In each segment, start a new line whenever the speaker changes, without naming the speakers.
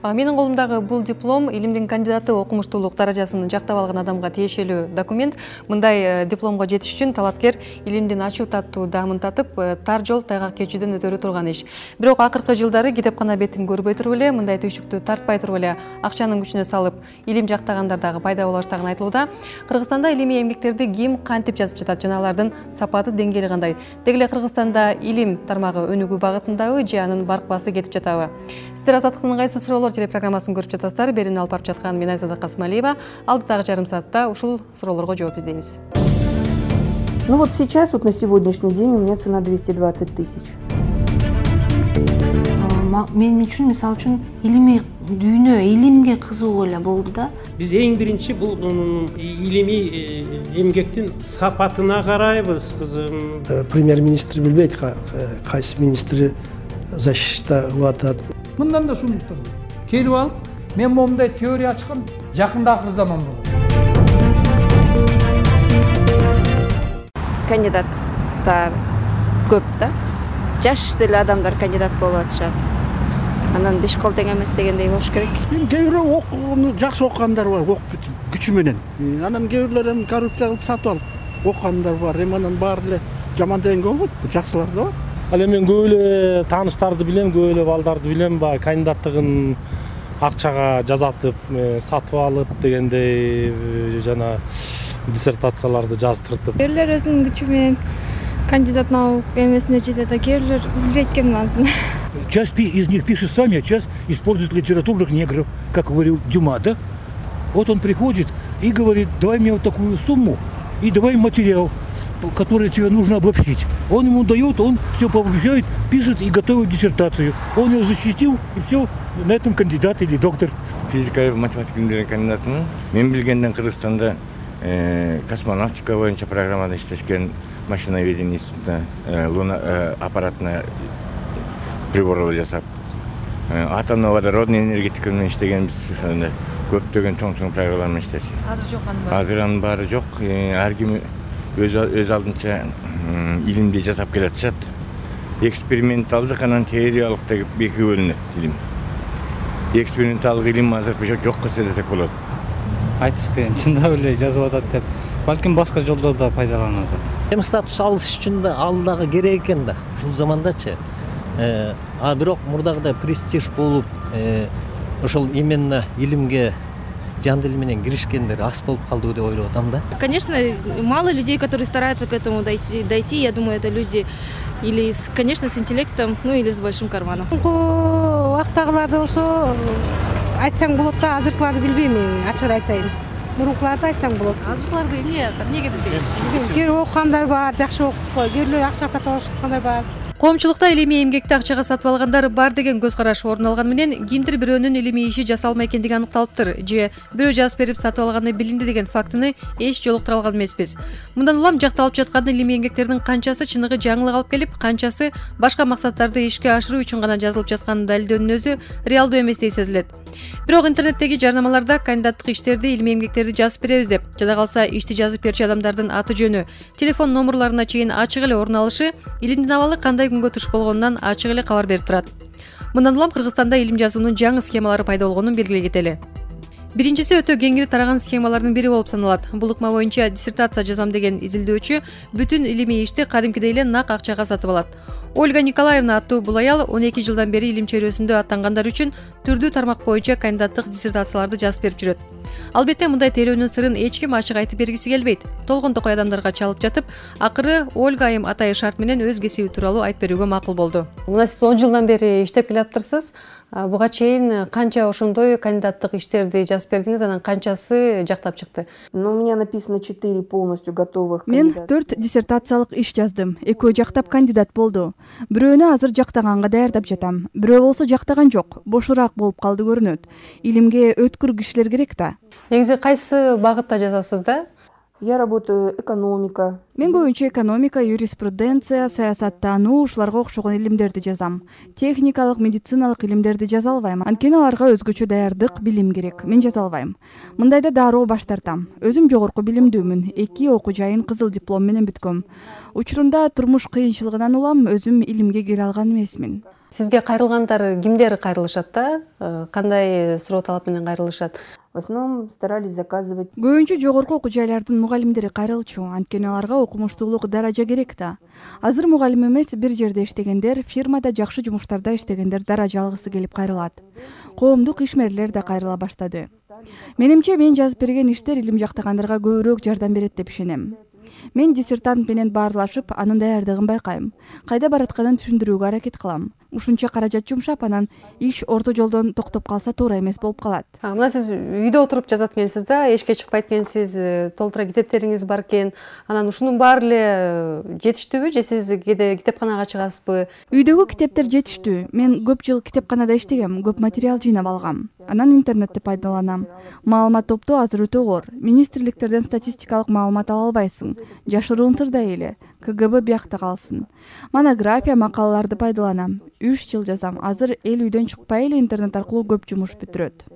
Менин колумдагы бул диплом илимдин кандидаты окумуштуулук даражасын жактап алган адамга тиешелүү документ. Мындай дипломго жетиш үчүн талапкер илимдин ачуу таттуу даамын татып, тар жол тайгак кечүүдөн өтөрү турган иш. Бирок акыркы жылдары китепкана бетин көрбөй туруп эле, мындай түйшүктү тартпай туруп эле акчанын күчүнө салып, илим жактагандар дагы пайда боло баштаганы айтылууда. Кыргызстанда илимий эмгектерди ким кантип жазып жатат жана алардын сапаты деңгээли кандай? Деги эле Кыргызстанда илим тармагы өнүгүү багытындабы же анын баркпасы кетип жатабы? Сиздер Азаттыктын кайсы суроолор телепрограммасын көрүп жатасыздар. Берүүнү алып барып жаткан мен Айзада Касымалиева. Алдыдагы жарым саатта ушул суроолорго жооп издейбиз.
Ну вот сейчас, вот на сегодняшний день у меня цена 220 тысяч.
Мен үчүн, мисалы үчүн, илимий дүйнө, илимге кызыгуу эле болду да.
Биз эң биринчи бул илимий эмгектин сапатына карайбыз, кызым.
Премьер-министр билбейт, кайсы министри защита кылып атат.
Мындан да сунуктур. Келип алып, мен момундай теория ачкан, жакында акыр заман болот.
Кандидаттар көп да. Жаш деле адамдар кандидат болуп атышат. Анан беш кол тең эмес дегендей болуш керек.
Кээ бирөө окууну жакшы окугандар бар, окуп бүтүп күчү менен. Анан кээ бирлер эми коррупция кылып сатып алып окугандар бар. Эми анан баары эле жаман дегенге болбойт, жакшылар да бар.
Ал эми мен көп эле тааныштарды билем, көп эле балдарды билем, баягы кандидаттыгын акчага жазатып, сатып алып дегендей жана диссертацияларды жаздыртып.
Кээ бирлер өзүнүн күчү менен кандидат наук эмесине жетет, а кээ бирлер билбейт экен азын.
Часть из них пишет сами, а часть использует литературных негров, как говорил Дюма, да? Вот он приходит и говорит: давай мне вот такую сумму и давай материал, который тебе нужно обобщить. Он ему дает, он все пообобщает, пишет и готовит диссертацию. Он ее защитил, и все, на этом кандидат или доктор.
Физика, математика кандидатымын. Мен билгенден Кыргызстанда космонавтика боюнча программада иштешкен, машиноведение институтуна луна аппаратына приборлар жасап, атомно водородный энергетика менен иштегенбиз. Ошондо көптөгөн чоң программалар менен иштешти.
Азыр жок анын баары.
Азыр анын баары жок. Ар ким өз алдынча илимди жасап келатышат. Эксперименталдык анан теориялык деп эки бөлүнөт илим. Эксперименталдык илим азыр жокко десек болот.
Айтыш кыйын, чындап эле жазып атат деп, балким башка жолдордо пайдаланып атат.
Эми статус алыш үчүн да ал дагы керек экен да, ушул замандачы. А бирок мурдагыдай престиж болуп, ошол именно илимге жан дил менен киришкендер аз болуп калдыбы деп ойлоп атам да.
Конечно, мало людей, которые стараются к этому дойти. Я думаю, это люди или, конечно, с интеллектом, ну или с большим карманом.
Вактагыларды болсо айтсаң болот да, азыркыларды билбейм, ачык айтайын. Мурункуларды айтсаң болот.
Азыркыларды эмнеге билбейсиз?
Кээ окугандар бар, жакшы окуп, кээ бирлер акча сатып алышкандар бар.
Коомчулукта илимий эмгекти акчага сатып алгандар бар деген көз караш орун алган менен кимдир бирөөнүн илимий иши жасалмай экендиги аныкталыптыр же бирөө жазып берип сатып алганы билинди деген фактыны эч жолуктура алган эмеспиз. Мындан улам жакталып жаткан илимий эмгектердин канчасы чыныгы жаңылык алып келип, канчасы башка максаттарды ишке ашыруу үчүн гана жазылып жатканын далилдөөнүн өзү реалдуу эместей сезилет. Бирок интернеттеги жарнамаларда кандидаттык иштерди, илимий эмгектерди жазып беребиз деп, жада калса ишти жазып берчү адамдардын аты жөнү, телефон номерларына чейин ачык эле орун алышы илимдин абалы кандай күнгө туш болгонунан ачык эле кабар берип турат. Мындан улам Кыргызстанда илим жазуунун жаңы схемалары пайда болгонун белгилей кетели. Биринчиси өтө кеңири тараган схемалардын бири болуп саналат. Бул ыкма боюнча диссертация жазам деген изилдөөчү бүтүн илимий ишти кадимкидей эле нак акчага сатып алат. Ольга Николаевна аттуу бул аял 12 жылдан бери илим чөйрөсүндө аттангандар үчүн түрдүү тармак боюнча кандидаттык диссертацияларды жазып берип жүрөт. Албетте мындай тейлөөнүн сырын эч ким ачык айтып бергиси келбейт. Толгон токой адамдарга чалып жатып, акыры Ольга айым атайы шарт менен өз кесиби тууралуу айтып берүүгө макул болду. Мына сиз 10 жылдан бери иштеп келаптырсыз. Буга чейин канча ошондой кандидаттык иштерди жазып бердиңиз, анан канчасы жактап чыкты?
Ну, у меня написано 4 полностью готовых.
Мен 4 диссертациялык иш жаздым. Экөө жактап кандидат болду. Бирөөнү азыр жактаганга даярдап жатам. Бирөө болсо жактаган жок, бошураак болуп калды көрүнөт. Илимге өткүр кишилер керек да.
Негизи кайсы багытта жазасыз да?
Я работаю экономика.
Мен көбүнчө экономика, юриспруденция, саясаттануу, ушуларга окшогон илимдерди жазам. Техникалык, медициналык илимдерди жаза албайм. Анткени аларга өзгөчө даярдык, билим керек. Мен жаза албайм. Мындайда дароо баш тартам. Өзүм жогорку билимдүүмүн. 2 окуу жайын кызыл диплом менен бүткөм. Учурунда турмуш кыйынчылыгынан улам өзүм илимге кире алган эмесмин.
Сизге кайрылгандар кимдер кайрылышат да? Кандай суроо талап менен кайрылышат?
В основном старались заказывать.
Көбүнчө жогорку окуу жайлардын мугалимдери кайрылчу, анткени аларга окумуштуулук даража керек да. Азыр мугалим эмес, бир жерде иштегендер, фирмада жакшы жумуштарда иштегендер даража алгысы келип кайрылат. Коомдук ишмерлер да кайрыла баштады. Менимче мен жазып берген иштер илим жактагандарга көбүрөөк жардам берет деп ишенем. Мен диссертант менен баарлашып, анын даярдыгын байкайм. Кайда баратканын түшүндүрүүгө аракет кылам. Ушунча каражат жумшап, анан иш орто жолдон токтоп калса туура эмес болуп калат.
Мына сиз үйдө отуруп жазат экенсиз да, эшикке чыкпайт экенсиз, толтура китептериңиз бар экен. Анан ушунун баары эле жетиштүүбү же сиз кээде китепканага чыгасызбы?
Үйдөгү китептер жетиштүү. Мен көп жыл китепканада иштегем, көп материал жыйнап алгам. Анан интернетти пайдаланам. Маалымат топтоо азыр өтө оор. Министрликтерден статистикалык маалымат ала албайсың. Жашыруун сырдай эле. КГБ биякта калсын. Монография, макалаларды пайдаланам. 3 жыл жазам. Азыр эл үйдөн чыкпай эле интернет аркылуу көп жумуш бүтүрөт.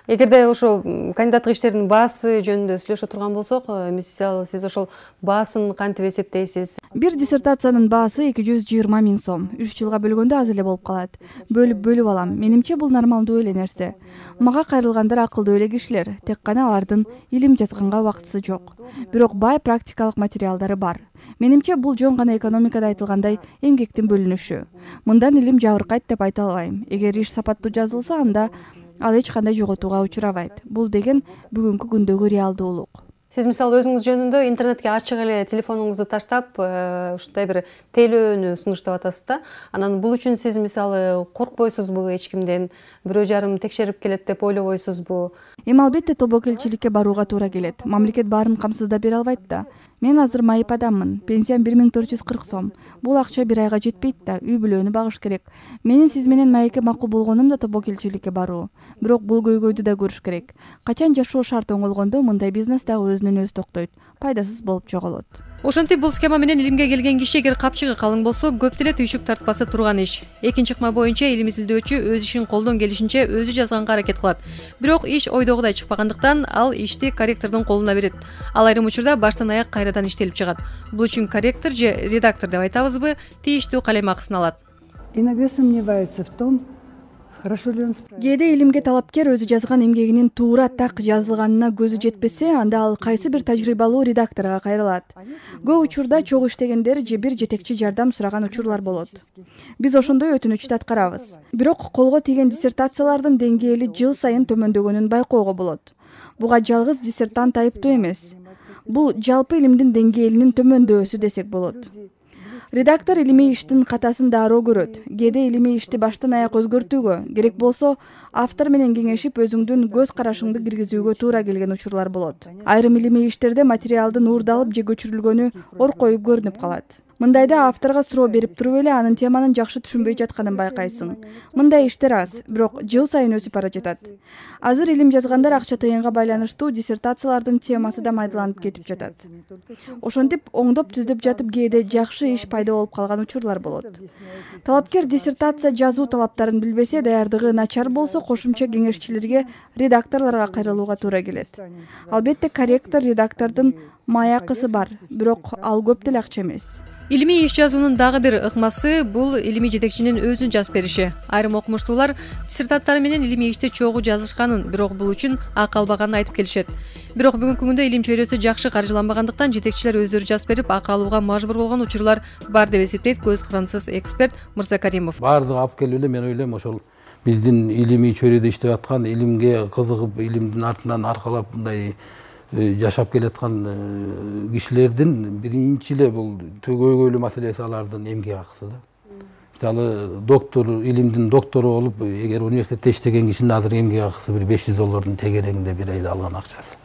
Эгерде ошо кандидаттык иштердин баасы жөнүндө сүйлөшө турган болсок, мисалы сиз ошол баасын кантип эсептейсиз?
Бир диссертациянын баасы 220 000 сом. 3 жылга бөлгөндө аз эле болуп калат. Бөлүп алам. Менимче бул нормалдуу эле нерсе. Мага кайрылгандар акылдуу эле кишилер. Тек гана алардын илим жазганга убактысы жок. Бирок бай практикалык материалдары бар. Менимче бул жөн гана экономикада айтылгандай эмгектин бөлүнүшү. Мындан илим жабыркайт деп айта албайм. Эгер иш сапаттуу жазылса, анда ал эч кандай жоготууга учурабайт. Бул деген бүгүнкү күндөгү реалдуулук.
Сиз мисалы өзүңүз жөнүндө интернетке ачык эле телефонуңузду таштап, ушундай бир тейлөөнү сунуштап атасыз да. Анан бул үчүн сиз мисалы коркпойсузбу эч кимден, бирөө жарым текшерип келет деп ойлобойсузбу?
Эми албетте тобокелчиликке барууга туура келет. Мамлекет баарын камсыздап бере албайт да. Мен азыр майып адаммын. Пенсиям 1440 сом. Бул акча бир айга жетпейт да, үй бүлөнү багыш керек. Менин сиз менен майекке макул болгонум да тобокелчиликке баруу. Бирок бул көйгөйдү да көрүш керек. Качан жашоо шарт оңолгондо мындай бизнес дагы өзүнөн өзү токтойт. Пайдасыз болуп жоголот.
Ошентип бул схема менен илимге келген киши эгер капчыгы калың болсо, көп деле түйшүк тартпасы турган иш. Экинчи ыкма боюнча илим изилдөөчү өз ишин колдон келишинче өзү жазганга аракет кылат. Бирок иш ойдогудай чыкпагандыктан ал ишти корректордун колуна берет. Ал айрым учурда баштан аяк кайрадан иштелип чыгат. Бул үчүн корректор же редактор деп айтабызбы, тийиштүү калем акысын алат.
Иногда сомневается в том, хорошо ли он справится.
Кээде илимге талапкер өзү жазган эмгегинин туура так жазылганына көзү жетпесе, анда ал кайсы бир тажрыйбалуу редакторго кайрылат. Көп учурда чогуу иштегендер же бир жетекчи жардам сураган учурлар болот. Биз ошондой өтүнүчтү аткарабыз. Бирок колго тийген диссертациялардын деңгээли жыл сайын төмөндөгөнүн байкоого болот. Буга жалгыз диссертант айыптуу эмес. Бул жалпы илимдин деңгээлинин төмөндөсү десек болот. Редактор илимий иштин катасын дароо көрөт. Кээде илимий ишти баштан аяк өзгөртүүгө, керек болсо автор менен кеңешип өзүңдүн көз карашыңды киргизүүгө туура келген учурлар болот. Айрым илимий иштерде материалдын уурдалып же көчүрүлгөнү ор коюп көрүнүп калат. Мындайда авторго суроо берип туруп эле анын теманын жакшы түшүнбөй жатканын байкайсың. Мындай иштер аз, бирок жыл сайын өсүп бара жатат. Азыр илим жазгандар акча тыйынга байланыштуу диссертациялардын темасы да майдаланып кетип жатат. Ошентип оңдоп түздөп жатып кээде жакшы иш пайда болуп калган учурлар болот. Талапкер диссертация жазуу талаптарын билбесе, даярдыгы начар болсо, кошумча кеңешчилерге, редакторлорго кайрылууга туура келет. Албетте корректор, редактордун май акысы бар, бирок ал көп деле акча эмес.
Илимий иш жазуунун дагы бир ыкмасы бул илимий жетекчинин өзүн жазып бериши. Айрым окумуштуулар диссертанттары менен илимий ишти чогуу жазышканын, бирок бул үчүн акы албаганын айтып келишет. Бирок бүгүнкү күндө илим чөйрөсү жакшы каржыланбагандыктан жетекчилер өздөрү жазып берип, акы алууга мажбур болгон учурлар бар деп эсептейт көз кырансыз эксперт Мырза Каримов.
Баардыгы алып келип эле мен ойлойм ошол биздин илимий чөйрөдө иштеп аткан, илимге кызыгып, илимдин артынан аркалап мындай жашап келаткан кишилердин биринчи эле бул көйгөйлүү маселеси алардын эмгек акысы да. Мисалы доктор, илимдин доктору болуп, эгер университетте иштеген кишинин азыр эмгек акысы бир $500 тегерегинде бир айда алган акчасы.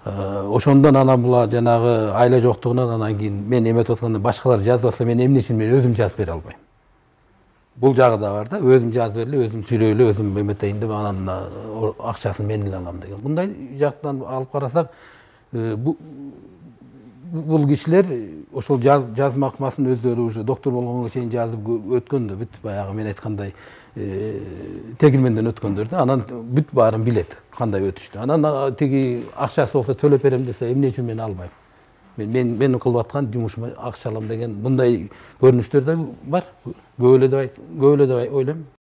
Ошондон анан була жанагы айла жоктугунан анан кийин мен эметип атканда башкалар жазып атса мен эмне үчүн мен өзүм жазып бере албайм. Бул жагы да бар да, өзүм жазып берели, өзүм сүйлөйлү, өзүм эметейин деп анан акчасын мен эле алам деген. Мындай жактан алып карасак, бул кишилер ошол жазма ыкмасын өздөрү уже доктор болгонго чейин жазып өткөн да, бүт баягы мен айткандай тегилменден өткөндөр да, анан бүт баарын билет, кандай өтүштү. Анан тиги акчасы болсо төлөп берем десе, эмне үчүн мен албайм? менин кылып аткан жумушума акча алам деген мындай көрүнүштөр да бар. Көп эле деп ойлойм.